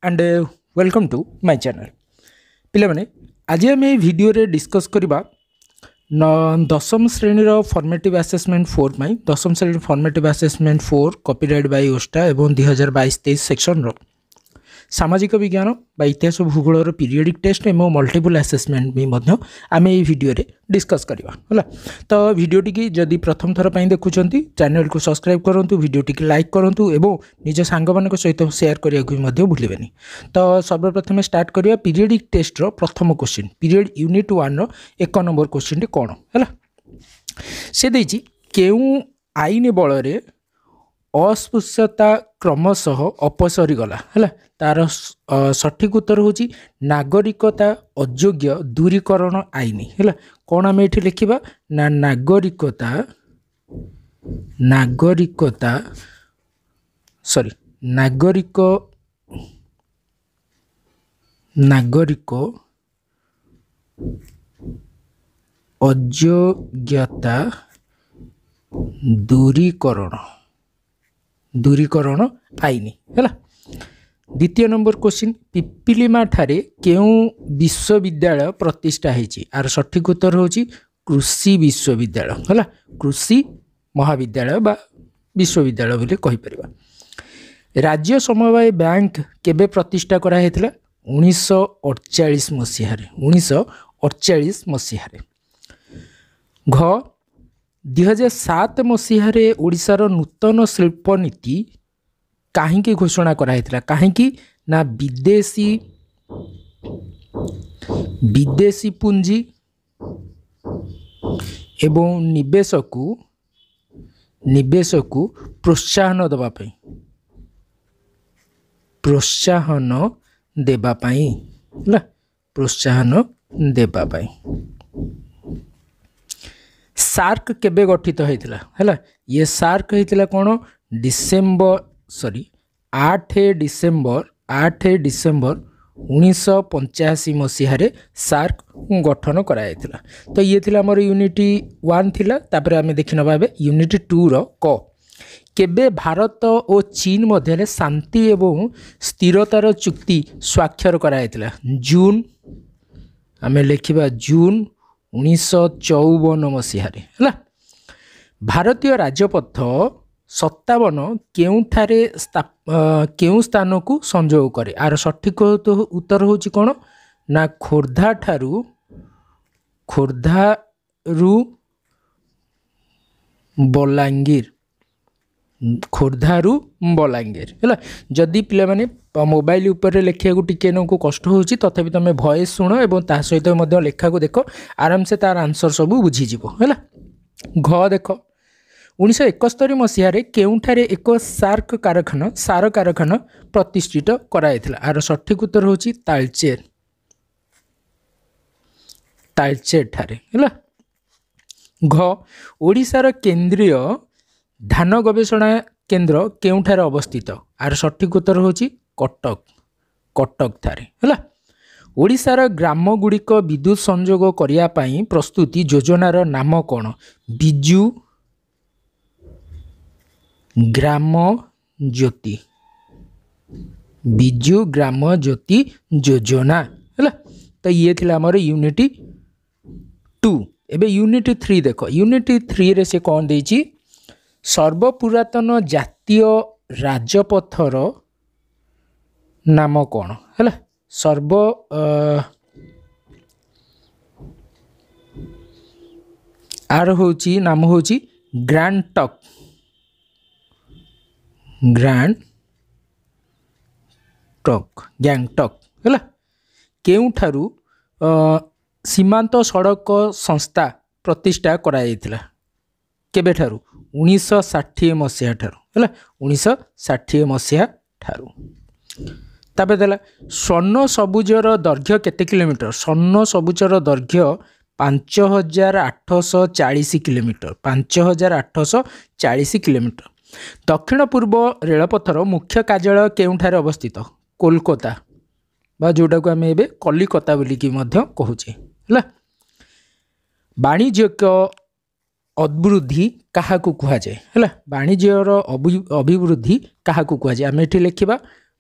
And welcome to my channel. ପିଲାମାନେ, ଆଜି ଆମେ ଏହି ଭିଡ଼ିଓରେ ଡିସ୍କସ୍ କରିବା ଦଶମ ଶ୍ରେଣୀର ଫର୍ମେଟିଭ୍ ଆସେସମେଣ୍ଟ 4 ପାଇଁ, ଦଶମ ଶ୍ରେଣୀ ଫର୍ମେଟିଭ୍ ଆସେସମେଣ୍ଟ 4 କପିରାଇଟ୍ ବାଇ ଓଷ୍ଟା ଏବଂ 2022-23 ସେକ୍ସନର ସାମାଜିକ ବିଜ୍ଞାନ ବା ଇତିହାସ ଭୂଗୋଳର ପିରିୟଡ଼ିକ୍ ଟେଷ୍ଟ ଏବଂ ମଲ୍ଟିପୁଲ୍ ଆସେସମେଣ୍ଟ ବି ମଧ୍ୟ ଆମେ ଏହି ଭିଡ଼ିଓରେ ଡିସ୍କସ୍ କରିବା। ହେଲା ତ, ଭିଡ଼ିଓଟିକି ଯଦି ପ୍ରଥମ ଥର ପାଇଁ ଦେଖୁଛନ୍ତି, ଚ୍ୟାନେଲକୁ ସବସ୍କ୍ରାଇବ୍ କରନ୍ତୁ, ଭିଡ଼ିଓଟିକି ଲାଇକ୍ କରନ୍ତୁ ଏବଂ ନିଜ ସାଙ୍ଗମାନଙ୍କ ସହିତ ସେୟାର କରିବାକୁ ବି ମଧ୍ୟ ଭୁଲିବେନି। ତ ସର୍ବପ୍ରଥମେ ଷ୍ଟାର୍ଟ କରିବା ପିରିୟଡ଼ିକ୍ ଟେଷ୍ଟର ପ୍ରଥମ କୋଶ୍ଚିନ୍, ପିରିୟଡ଼ ୟୁନିଟ୍ 1ର 1 ନମ୍ବର କୋଶ୍ଚିନ୍ଟି କ'ଣ ହେଲା। ସେ ଦେଇଛି, କେଉଁ ଆଇନ ବଳରେ ଅସ୍ପୃଶ୍ୟତା କ୍ରମଶଃ ଅପସରିଗଲା? ହେଲା, ତାର ସଠିକ୍ ଉତ୍ତର ହେଉଛି ନାଗରିକତା ଅଯୋଗ୍ୟ ଦୂରୀକରଣ ଆଇନ। ହେଲା, କ'ଣ ଆମେ ଏଠି ଲେଖିବା ନା ନାଗରିକତା ସରି ନାଗରିକ ଅଯୋଗ୍ୟତା ଦୂରୀକରଣ ଆଇନ। ହେଲା, ଦ୍ୱିତୀୟ ନମ୍ବର କୋଶ୍ଚିନ୍, ପିପିଲିମା ଠାରେ କେଉଁ ବିଶ୍ୱବିଦ୍ୟାଳୟ ପ୍ରତିଷ୍ଠା ହେଇଛି? ଆର ସଠିକ୍ ଉତ୍ତର ହେଉଛି କୃଷି ବିଶ୍ୱବିଦ୍ୟାଳୟ। ହେଲା, କୃଷି ମହାବିଦ୍ୟାଳୟ ବା ବିଶ୍ୱବିଦ୍ୟାଳୟ ବୋଲି କହିପାରିବା। ରାଜ୍ୟ ସମବାୟ ବ୍ୟାଙ୍କ କେବେ ପ୍ରତିଷ୍ଠା କରାହେଇଥିଲା? 1948 ମସିହାରେ, 1948 ମସିହାରେ। ଘ, 2007 ମସିହାରେ ଓଡ଼ିଶାର ନୂତନ ଶିଳ୍ପ ନୀତି କାହିଁକି ଘୋଷଣା କରାହେଇଥିଲା? କାହିଁକି ନା ବିଦେଶୀ ପୁଞ୍ଜି ଏବଂ ନିବେଶକୁ ପ୍ରୋତ୍ସାହନ ଦେବା ପାଇଁ, ପ୍ରୋତ୍ସାହନ ଦେବା ପାଇଁ। ହେଲା, ପ୍ରୋତ୍ସାହନ ଦେବା ପାଇଁ। ସାର୍କ କେବେ ଗଠିତ ହେଇଥିଲା? ହେଲା, ଇଏ ସାର୍କ ହେଇଥିଲା କ'ଣ, ଡିସେମ୍ବର ସରି 8 ଡିସେମ୍ବର 1985 ମସିହାରେ ସାର୍କ ଗଠନ କରାଯାଇଥିଲା। ତ ଇଏ ଥିଲା ଆମର ୟୁନିଟ୍ 1 ଥିଲା। ତାପରେ ଆମେ ଦେଖିନେବା ଏବେ ୟୁନିଟ୍ 2ର କ, କେବେ ଭାରତ ଓ ଚୀନ ମଧ୍ୟରେ ଶାନ୍ତି ଏବଂ ସ୍ଥିରତାର ଚୁକ୍ତି ସ୍ୱାକ୍ଷର କରାଯାଇଥିଲା? ଜୁନ୍, ଆମେ ଲେଖିବା ଜୁନ୍ 1954 ମସିହାରେ। ହେଲା, ଭାରତୀୟ ରାଜପଥ 57 କେଉଁଠାରେ କେଉଁ ସ୍ଥାନକୁ ସଂଯୋଗ କରେ? ଆର ସଠିକ ଉତ୍ତର ହେଉଛି କ'ଣ ନା ଖୋର୍ଦ୍ଧାରୁ ବଲାଙ୍ଗୀର, ଖୋର୍ଦ୍ଧାରୁ ବଲାଙ୍ଗୀର। ହେଲା, ଯଦି ପିଲାମାନେ ମୋବାଇଲ ଉପରେ ଲେଖିବାକୁ ଟିକେ ନାକୁ କଷ୍ଟ ହେଉଛି, ତଥାପି ତୁମେ ଭଏସ୍ ଶୁଣ ଏବଂ ତା ସହିତ ମଧ୍ୟ ଲେଖାକୁ ଦେଖ, ଆରାମସେ ତାର ଆନ୍ସର ସବୁ ବୁଝିଯିବ। ହେଲା, ଘ ଦେଖ, 1971 ମସିହାରେ କେଉଁଠାରେ ଏକ ସାର୍କ କାରଖାନା, ସାର କାରଖାନା ପ୍ରତିଷ୍ଠିତ କରାଯାଇଥିଲା? ଆର ସଠିକ୍ ଉତ୍ତର ହେଉଛି ତାଳଚେର, ତାଳଚେର ଠାରେ। ହେଲା, ଘ, ଓଡ଼ିଶାର କେନ୍ଦ୍ରୀୟ ଧାନ ଗବେଷଣା କେନ୍ଦ୍ର କେଉଁଠାରେ ଅବସ୍ଥିତ? ଆର ସଠିକ୍ ଉତ୍ତର ହେଉଛି କଟକ, କଟକ ଠାରେ। ହେଲା, ଓଡ଼ିଶାର ଗ୍ରାମଗୁଡ଼ିକ ବିଦ୍ୟୁତ ସଂଯୋଗ କରିବା ପାଇଁ ପ୍ରସ୍ତୁତି ଯୋଜନାର ନାମ କ'ଣ? ବିଜୁ ଗ୍ରାମ ଜ୍ୟୋତି, ବିଜୁ ଗ୍ରାମ ଜ୍ୟୋତି ଯୋଜନା। ହେଲା, ତ ଇଏ ଥିଲା ଆମର ୟୁନିଟ୍ 2। ଏବେ ୟୁନିଟ୍ 3 ଦେଖ। ୟୁନିଟ୍ 3ରେ ସେ କ'ଣ ଦେଇଛି? ସର୍ବପୁରାତନ ଜାତୀୟ ରାଜପଥର ନାମ କ'ଣ? ହେଲା, ଆର ହେଉଛି ନାମ ହେଉଛି grand talk, grand talk, Gangtok. ହେଲା, କେଉଁଠାରୁ ସୀମାନ୍ତ ସଡ଼କ ସଂସ୍ଥା ପ୍ରତିଷ୍ଠା କରାଯାଇଥିଲା? କେବେଠାରୁ? 1960 ମସିହା ଠାରୁ। ହେଲା, 1960 ମସିହା ଠାରୁ। ତାପରେ ଦେଲା, ସ୍ୱର୍ଣ୍ଣ ସବୁଜର ଦୈର୍ଘ୍ୟ କେତେ କିଲୋମିଟର? ସ୍ୱର୍ଣ୍ଣ ସବୁଜର ଦୈର୍ଘ୍ୟ 5840 କିଲୋମିଟର, 5840 କିଲୋମିଟର। ଦକ୍ଷିଣ ପୂର୍ବ ରେଳପଥର ମୁଖ୍ୟ କାର୍ଯ୍ୟାଳୟ କେଉଁଠାରେ ଅବସ୍ଥିତ? କୋଲକାତା ବା ଯେଉଁଟାକୁ ଆମେ ଏବେ କଲିକତା ବୋଲିକି ମଧ୍ୟ କହୁଛେ। ହେଲା, ବାଣିଜ୍ୟିକ ଅଭିବୃଦ୍ଧି କାହାକୁ କୁହାଯାଏ? ହେଲା, ବାଣିଜ୍ୟର ଅଭିବୃଦ୍ଧି କାହାକୁ କୁହାଯାଏ? ଆମେ ଏଠି ଲେଖିବା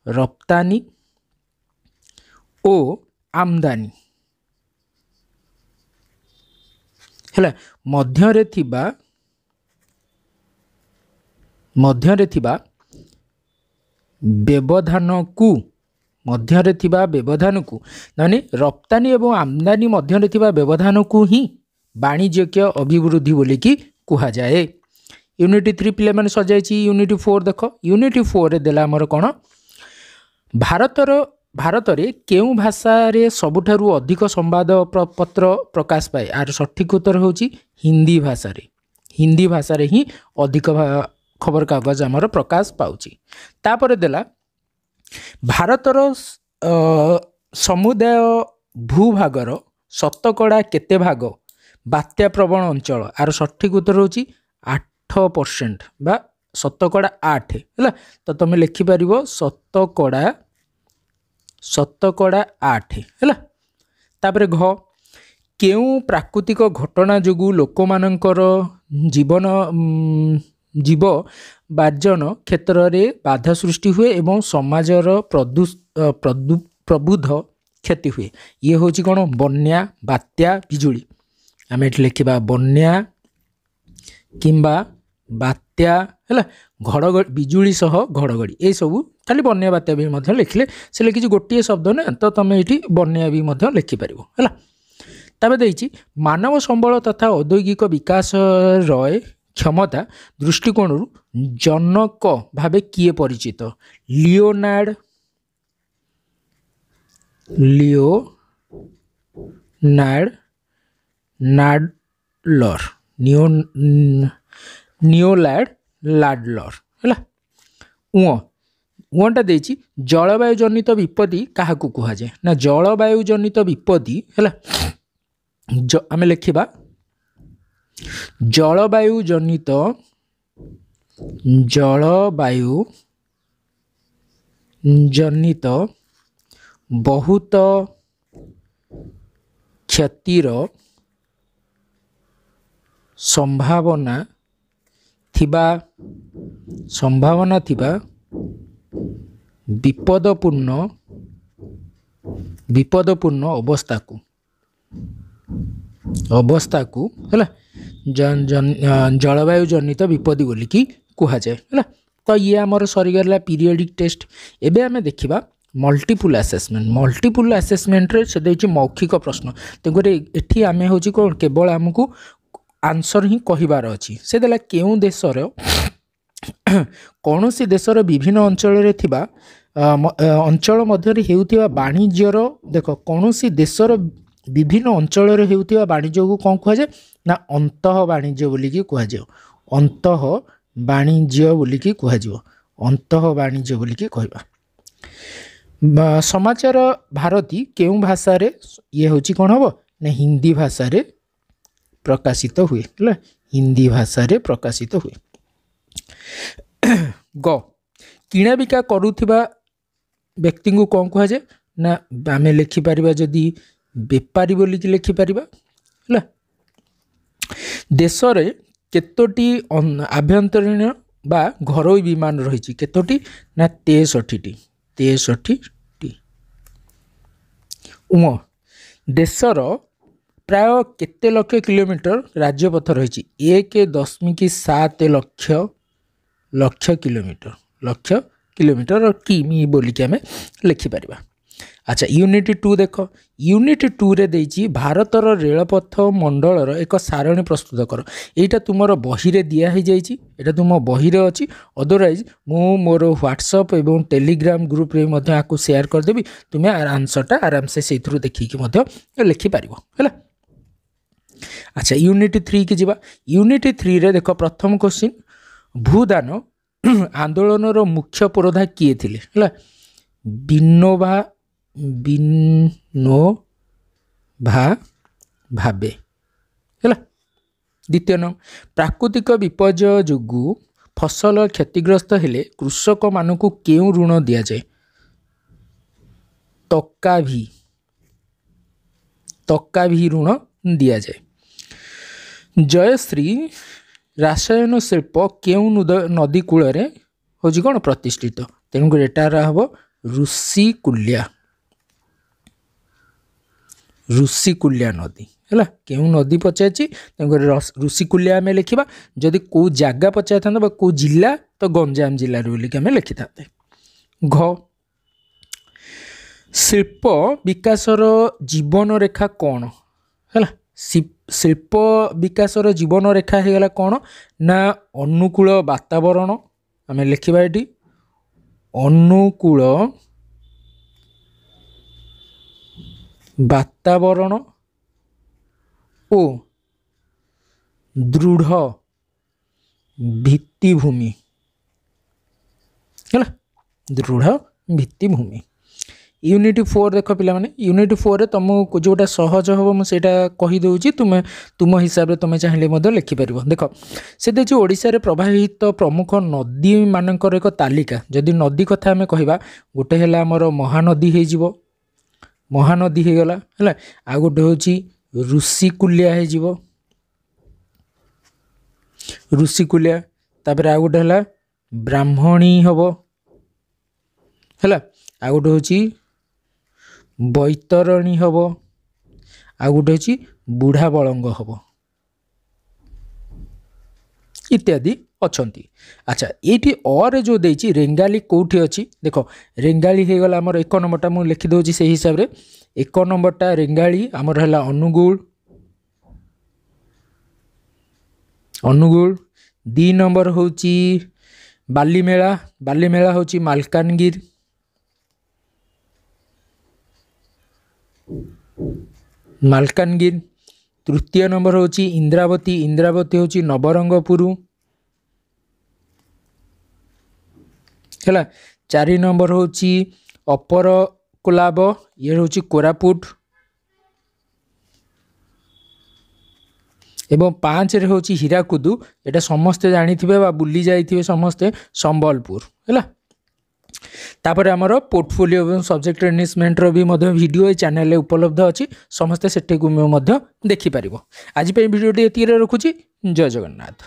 ରପ୍ତାନି ଓ ଆମଦାନୀ ହେଲା ମଧ୍ୟରେ ଥିବା ବ୍ୟବଧାନକୁ ମାନେ ରପ୍ତାନି ଏବଂ ଆମଦାନୀ ମଧ୍ୟରେ ଥିବା ବ୍ୟବଧାନକୁ ହିଁ ବାଣିଜ୍ୟିକ ଅଭିବୃଦ୍ଧି ବୋଲିକି କୁହାଯାଏ। ୟୁନିଟ୍ 3 ପିଲାମାନେ ସଜାଇଛି। ୟୁନିଟ୍ 4 ଦେଖ, ୟୁନିଟ୍ 4ରେ ଦେଲା ଆମର କ'ଣ, ଭାରତରେ କେଉଁ ଭାଷାରେ ସବୁଠାରୁ ଅଧିକ ସମ୍ବାଦ ପତ୍ର ପ୍ରକାଶ ପାଏ? ଆର ସଠିକ୍ ଉତ୍ତର ହେଉଛି ହିନ୍ଦୀ ଭାଷାରେ। ହିନ୍ଦୀ ଭାଷାରେ ହିଁ ଅଧିକ ଖବରକାଗଜ ଆମର ପ୍ରକାଶ ପାଉଛି। ତାପରେ ଦେଲା ଭାରତର ସମୁଦାୟ ଭୂଭାଗର ଶତକଡ଼ା କେତେ ଭାଗ ବାତ୍ୟା ପ୍ରବଣ ଅଞ୍ଚଳ? ଆର ସଠିକ୍ ଉତ୍ତର ହେଉଛି 8% ବା ଶତକଡ଼ା 8 ହେଲା। ତ ତୁମେ ଲେଖିପାରିବ ଶତକଡ଼ା 8 ହେଲା। ତାପରେ ଘ, କେଉଁ ପ୍ରାକୃତିକ ଘଟଣା ଯୋଗୁଁ ଲୋକମାନଙ୍କର ଜୀବ ବାର୍ଜନ କ୍ଷେତ୍ରରେ ବାଧା ସୃଷ୍ଟି ହୁଏ ଏବଂ ସମାଜର ପ୍ରବୁଦ୍ଧ କ୍ଷତି ହୁଏ? ଇଏ ହେଉଛି କ'ଣ, ବନ୍ୟା, ବାତ୍ୟା, ବିଜୁଳି। ଆମେ ଏଠି ଲେଖିବା ବନ୍ୟା କିମ୍ବା ବାତ୍ୟା ହେଲା, ଘଡ଼ଘଡ଼ି, ବିଜୁଳି ସହ ଘଡ଼ଘଡ଼ି, ଏସବୁ ଖାଲି ବନ୍ୟା ବାତ୍ୟା ବି ମଧ୍ୟ ଲେଖିଲେ ସେ ଲେଖିଛି ଗୋଟିଏ ଶବ୍ଦ ନା, ତ ତୁମେ ଏଇଠି ବନ୍ୟା ବି ମଧ୍ୟ ଲେଖିପାରିବ ହେଲା। ତାପରେ ଦେଇଛି ମାନବ ସମ୍ବଳ ତଥା ଔଦ୍ୟୋଗିକ ବିକାଶର କ୍ଷମତା ଦୃଷ୍ଟିକୋଣରୁ ଜନକ ଭାବେ କିଏ ପରିଚିତ? ଲିଓନାର୍ଡ ନାଡଲର, ନିଓଲାର୍ଡ ଲାଡଲର ହେଲା। ଉଅଁଟା ଦେଇଛି ଜଳବାୟୁ ଜନିତ ବିପତ୍ତି କାହାକୁ କୁହାଯାଏ? ନା ଜଳବାୟୁ ଜନିତ ବିପତ୍ତି ହେଲା, ଆମେ ଲେଖିବା ଜଳବାୟୁ ଜନିତ ବହୁତ କ୍ଷତିର ସମ୍ଭାବନା ଥିବା ବିପଦପୂର୍ଣ୍ଣ ଅବସ୍ଥାକୁ ହେଲା ଜଳବାୟୁ ଜନିତ ବିପତ୍ତି ବୋଲିକି କୁହାଯାଏ ହେଲା। ତ ଇଏ ଆମର ସରିଗଲା ପିରିୟଡ଼ିକ୍ ଟେଷ୍ଟ। ଏବେ ଆମେ ଦେଖିବା ମଲ୍ଟିପୁଲ୍ ଆସେସମେଣ୍ଟ। ମଲ୍ଟିପୁଲ୍ ଆସେସମେଣ୍ଟରେ ସେ ଦେଇଛି ମୌଖିକ ପ୍ରଶ୍ନ, ତେଣୁକରି ଏଠି ଆମେ ହେଉଛି କ'ଣ, କେବଳ ଆମକୁ ଆନ୍ସର ହିଁ କହିବାର ଅଛି। ସେ ଦେଲା କେଉଁ ଦେଶର କୌଣସି ଦେଶର ବିଭିନ୍ନ ଅଞ୍ଚଳରେ ଥିବା ଅଞ୍ଚଳ ମଧ୍ୟରେ ହେଉଥିବା ବାଣିଜ୍ୟର, ଦେଖ କୌଣସି ଦେଶର ବିଭିନ୍ନ ଅଞ୍ଚଳରେ ହେଉଥିବା ବାଣିଜ୍ୟକୁ କ'ଣ କୁହାଯାଏ? ନା ଅନ୍ତଃ ବାଣିଜ୍ୟ ବୋଲିକି କୁହାଯିବ। ଅନ୍ତଃ ବାଣିଜ୍ୟ ବୋଲିକି କୁହାଯିବ, ଅନ୍ତଃ ବାଣିଜ୍ୟ ବୋଲିକି କହିବା। ସମାଚାର ଭାରତୀ କେଉଁ ଭାଷାରେ, ଇଏ ହେଉଛି କ'ଣ ହେବ ନା ହିନ୍ଦୀ ଭାଷାରେ ପ୍ରକାଶିତ ହୁଏ ହେଲା, ହିନ୍ଦୀ ଭାଷାରେ ପ୍ରକାଶିତ ହୁଏ। ଗ, କିଣାବିକା କରୁଥିବା ବ୍ୟକ୍ତିଙ୍କୁ କ'ଣ କୁହାଯାଏ? ନା ଆମେ ଲେଖିପାରିବା ଯଦି ବେପାରୀ ବୋଲିକି ଲେଖିପାରିବା ହେଲା। ଦେଶରେ କେତୋଟି ଆଭ୍ୟନ୍ତରୀଣ ବା ଘରୋଇ ବିମାନ ରହିଛି? କେତୋଟି? ନା 63ଟି, 63ଟି। ଉଁ, ଦେଶର ପ୍ରାୟ କେତେ ଲକ୍ଷ କିଲୋମିଟର ରାଜ୍ୟପଥ ରହିଛି? 1.7 ଲକ୍ଷ ଲକ୍ଷ କିଲୋମିଟର, ଲକ୍ଷ କିଲୋମିଟର କିମି ବୋଲିକି ଆମେ ଲେଖିପାରିବା। ଆଚ୍ଛା, ୟୁନିଟ୍ 2 ଦେଖ। ୟୁନିଟ୍ 2ରେ ଦେଇଛି ଭାରତର ରେଳପଥ ମଣ୍ଡଳର ଏକ ସାରଣୀ ପ୍ରସ୍ତୁତ କର। ଏଇଟା ତୁମର ବହିରେ ଦିଆ ହେଇଯାଇଛି, ଏଇଟା ତୁମ ବହିରେ ଅଛି। ଅଦରୱାଇଜ୍ ମୁଁ ମୋର ହ୍ୱାଟ୍ସଅପ୍ ଏବଂ ଟେଲିଗ୍ରାମ ଗ୍ରୁପ୍ରେ ମଧ୍ୟ ଆକୁ ସେୟାର କରିଦେବି, ତୁମେ ଆନ୍ସର୍ଟା ଆରାମସେ ସେଇଥିରୁ ଦେଖିକି ମଧ୍ୟ ଲେଖିପାରିବ ହେଲା। ଆଚ୍ଛା, ୟୁନିଟ୍ 3 କି ଯିବା। ୟୁନିଟ୍ 3ରେ ଦେଖ ପ୍ରଥମ କ୍ୱେଶ୍ଚିନ୍, ଭୂଦାନ ଆନ୍ଦୋଳନର ମୁଖ୍ୟ ପୁରୋଧା କିଏ ଥିଲେ? ହେଲା ବିନୋବା ଭାବେ ହେଲା। ଦ୍ୱିତୀୟ ନମ୍ବର, ପ୍ରାକୃତିକ ବିପର୍ଯ୍ୟୟ ଯୋଗୁଁ ଫସଲ କ୍ଷତିଗ୍ରସ୍ତ ହେଲେ କୃଷକମାନଙ୍କୁ କେଉଁ ଋଣ ଦିଆଯାଏ? ତକାଭି ଋଣ ଦିଆଯାଏ। ଜୟଶ୍ରୀ ରାସାୟନ ଶିଳ୍ପ କେଉଁ ନଦୀ କୂଳରେ ହେଉଛି କ'ଣ ପ୍ରତିଷ୍ଠିତ? ତେଣୁକରି ଏଟାର ହେବ ଋଷିକୁଲ୍ୟା। ଋଷିକୁଲ୍ୟା ନଦୀ। ହେଲା, କେଉଁ ନଦୀ ପଚାରିଛି, ତେଣୁକରି ଋଷିକୁଲ୍ୟା ଆମେ ଲେଖିବା। ଯଦି କେଉଁ ଜାଗା ପଚାରିଥାନ୍ତା ବା କେଉଁ ଜିଲ୍ଲା, ତ ଗଞ୍ଜାମ ଜିଲ୍ଲାରୁ ବୋଲିକି ଆମେ ଲେଖିଥାନ୍ତେ। ଘ, ଶିଳ୍ପ ବିକାଶର ଜୀବନରେଖା କ'ଣ? ହେଲା, ଶିଳ୍ପ ବିକାଶର ଜୀବନରେଖା ହେଇଗଲା କ'ଣ ନା ଅନୁକୂଳ ବାତାବରଣ। ଆମେ ଲେଖିବା ଏଠି ଅନୁକୂଳ ବାତାବରଣ ଓ ଦୃଢ଼ ଭିତ୍ତିଭୂମି। ହେଲା, ଦୃଢ଼ ଭିତ୍ତିଭୂମି। ୟୁନିଟ୍ 4 ଦେଖ ପିଲାମାନେ, ୟୁନିଟ୍ 4ରେ ତୁମକୁ ଯେଉଁଟା ସହଜ ହେବ ମୁଁ ସେଇଟା କହିଦେଉଛି, ତୁମେ ତୁମ ହିସାବରେ ତୁମେ ଚାହିଁଲେ ମଧ୍ୟ ଲେଖିପାରିବ। ଦେଖ, ସେ ଦେଇଛି ଓଡ଼ିଶାରେ ପ୍ରବାହିତ ପ୍ରମୁଖ ନଦୀମାନଙ୍କର ଏକ ତାଲିକା। ଯଦି ନଦୀ କଥା ଆମେ କହିବା, ଗୋଟେ ହେଲା ଆମର ମହାନଦୀ ହେଇଯିବ, ମହାନଦୀ ହେଇଗଲା। ହେଲା, ଆଉ ଗୋଟେ ହେଉଛି ଋଷିକୁଲ୍ୟା ହେଇଯିବ, ଋଷିକୁଲ୍ୟା। ତାପରେ ଆଉ ଗୋଟେ ହେଲା ବ୍ରାହ୍ମଣୀ ହେବ। ହେଲା, ଆଉ ଗୋଟେ ହେଉଛି ବୈତରଣୀ ହେବ, ଆଉ ଗୋଟେ ହେଉଛି ବୁଢ଼ା ବଳଙ୍ଗ ହେବ, ଇତ୍ୟାଦି ଅଛନ୍ତି। ଆଚ୍ଛା, ଏଇଠି ଅରେ ଯେଉଁ ଦେଇଛି ରେଙ୍ଗାଲି କେଉଁଠି ଅଛି? ଦେଖ, ରେଙ୍ଗାଲି ହେଇଗଲା ଆମର 1 ନମ୍ବରଟା, ମୁଁ ଲେଖିଦେଉଛି ସେଇ ହିସାବରେ। 1 ନମ୍ବରଟା ରେଙ୍ଗାଳି ଆମର ହେଲା ଅନୁଗୁଳ, ଅନୁଗୁଳ। 2 ନମ୍ବର ହେଉଛି ବାଲିମେଳା, ବାଲିମେଳା ହେଉଛି ମାଲକାନଗିରି। ମାଲକାନଗିରି। ତୃତୀୟ ନମ୍ବର ହେଉଛି ଇନ୍ଦ୍ରାବତୀ, ଇନ୍ଦ୍ରାବତୀ ହେଉଛି ନବରଙ୍ଗପୁର। ହେଲା, 4 ନମ୍ବର ହେଉଛି ଅପର କୋଲାବ, ଇଏ ହେଉଛି କୋରାପୁଟ। ଏବଂ 5ରେ ହେଉଛି ହୀରାକୁଦୁ, ଏଇଟା ସମସ୍ତେ ଜାଣିଥିବେ ବା ବୁଲି ଯାଇଥିବେ ସମସ୍ତେ, ସମ୍ବଲପୁର। ହେଲା, ତାପରେ ଆମର ପୋର୍ଟଫୋଲିଓ ଏବଂ ସବଜେକ୍ଟ ଏନରିଚମେଣ୍ଟର ବି ମଧ୍ୟ ଭିଡ଼ିଓ ଏ ଚ୍ୟାନେଲରେ ଉପଲବ୍ଧ ଅଛି, ସମସ୍ତେ ସେଠିକୁ ମଧ୍ୟ ଦେଖିପାରିବ। ଆଜି ପାଇଁ ଭିଡ଼ିଓଟି ଏତିକିରେ ରଖୁଛି। ଜୟ ଜଗନ୍ନାଥ।